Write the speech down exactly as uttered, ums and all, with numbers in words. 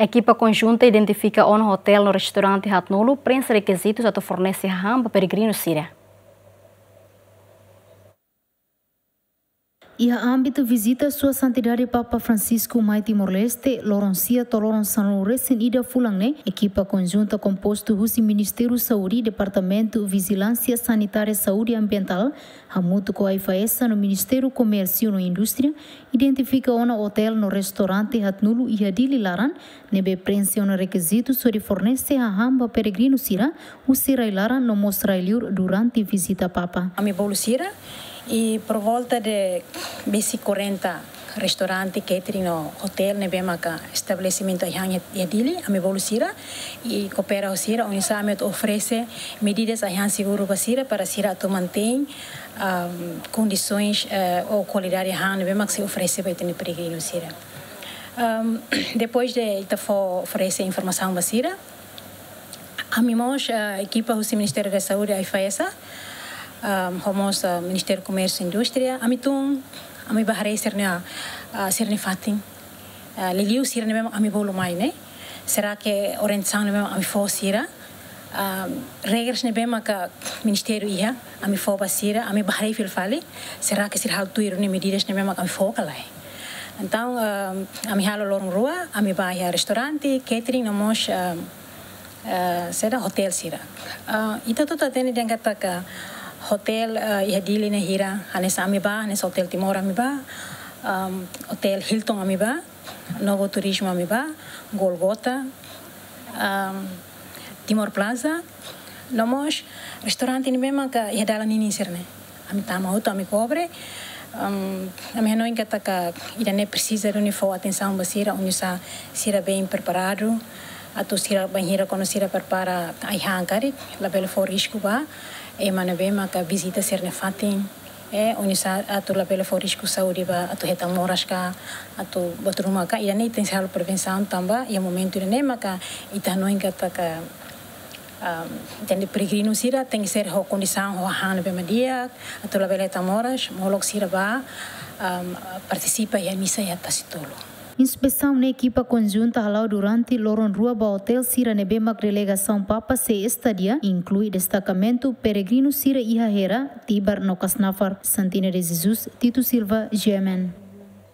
Ekipa konjunta identifika ona hotel no restaurante haatnulu preenxe rekizitus atu fornese hahán ba peregrinu sira. Iha ámbitu vizita Sua Santidade Papa Francisco mai Timor-Leste, loron sia to'o loron sanulu-resin-ida fulan ne'e, ekipa konjunta kompostu husi Ministériu Saúde, Departamentu Vijilánsia Sanitária Saúde Ambientál, hamutuk ho AIFAESA no Ministériu Komérsiu no Indústria, identifika ona hotel no restaurante haatnulu iha Dili laran, ne'ebé preenxe ona rekizitus hodi fornese hahán ba peregrinu sira, husi rai-laran no mós rai-liur durante vizita Papa. Ami bolu sira, i por volta de besik kuarenta restaurante, catering no hotel ne'ebé maka estabelesimentu ai-han iha Dili, ami bolu sira, i koopera ho sira, oinsá ami atu oferese medidas ai-han seguru ba sira, para sira atu mantein, ahm, kondisoens, eh, ou kualidade ai-han ne'ebé mak sei oferese ba ita-nia peregrinu sira. Ahm, depois de ita fó oferese informasaun ba sira, ami mós, eh, ekipa husi Ministériu da Saúde, AIFAESA, ahm, ho mós, eh, Ministériu Komérsiu Indústria, ami tun, ami bá haree sira-nia, ah, sira-nia fatin. Ah, liuliu sira ne'ebé mak ami bolu mai ne'e. Será que orientasaun ne'ebé mak ami fó sira, ah, regras ne'ebé maka ministériu iha, ami fó ba sira, ami bá haree fila fali, será que sira halo tuir duni medidas ne'ebé mak ami fó ka lae? Entaun, ah, ami halo loron rua, ami bá iha restaurante, catering no mós, ah, ah, saida, hotel sira. Ah, ita hotu hatene dehan katak hotel, ah, iha Dili ne'e hira, hanesan ami bá, hanesan Hotel Timor ami bá, ah, Hotel Hilton ami bá, Novo Turismo ami bá, Golgota, ahm, Timor Plaza, no mós restaurante ne'ebé maka iha dalan ninin sira-ne'e. Ami tama hotu, ami kobre, ahm, ami hanoin katak ida-ne'e presiza duni fó atensaun ba sira, oinsá sira bem preparadu, atu sira bainhira kuandu sira prepara ai-han karik, labele fó risku ba ema ne'ebé maka vizita sira-nia fatin. Eh, oinsá atu labele fó risku saúde ba atu hetan moras ka, atu buat ruma ka, ida-ne'e tenke halo prevensaun tanba iha momentu ida-ne'e maka ita hanoin katak, ah, tenke peregrinu sira tenke ser ho kondisaun, ho hahán ne'ebé mak di'ak, atu labele hetan moras, molok sira bá, ah, partisipa iha misa iha Tasitolu. Inspesaun ne'e ekipa konjunta hala'o durante loron rua ba hotel sira ne'ebé mak delegasaun Papa sei estadia, inklui destakamentu peregrinu sira iha Hera, Tibar no Kasnafar. Santina de Jesus, Tito Silva, G M N.